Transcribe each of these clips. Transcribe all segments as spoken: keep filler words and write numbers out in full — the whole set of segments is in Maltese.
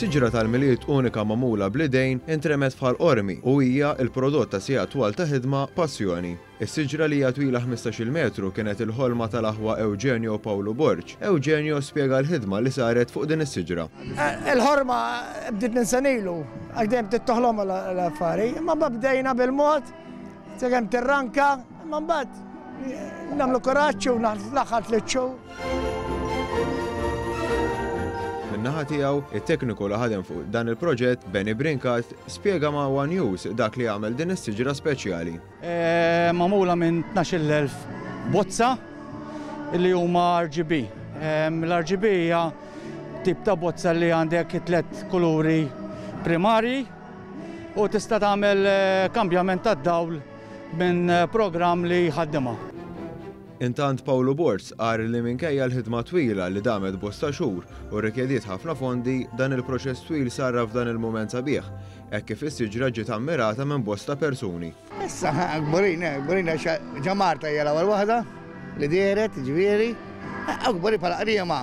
Siġra tal-Milied unika magħmula bl-idejn intremet f'Ħal Qormi u hija il-prodott ta' sigħat twal ta' ħidma, passjoni. Is-siġra li hija twila ħmistax-il metru kienet il-ħolma tal-aħwa Eugenio u Paolo Borg. Eugenio spjega l-ħidma li saret fuq din is-siġra. Il-ħorma bdiet minn senilu, għax dejjem tittoħlom l-affari, imma bdejna bil-mod, sakemm tirranka, imma mbagħad nagħmlu kuraġġ u l-aħħar tliet xhur. Min-naħa tiegħu, it-tekniku li ħadem fuq dan il-proġett, Benny Brincat, spjega ma' One News dak li għamel din is-siġra speċjali. E, magħmula minn tnax-il elf bozza li huma R G B. E, L-R G B hija tip ta' bozza li għandek tliet kuluri primarji u tista' tagħmel eh, kambjament tad-dawl minn programm li jħaddimha. Intant Paolo Borg qal li minkejja l-ħidma twila li damet bosta xhur u rikjediet ħafna fondi, dan il-proċess twil sarra f'dan il-mument sabiħ, hekk kif is-siġra ġiet ammirata minn bosta persuni. Issa, kburin, kburin, ġa Marta hija l-ewwel waħda li dehret, ġifieri. Kburin bħala Qriema.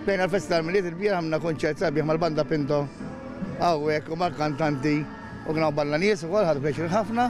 Bejn il-festa tal-Milied il-bieraħ għamilna konċert sabiħ mal-banda Pinto. Hawnhekk u mal-kantanti u kien hawn balla nies ukoll, ħadu pjaċir ħafna.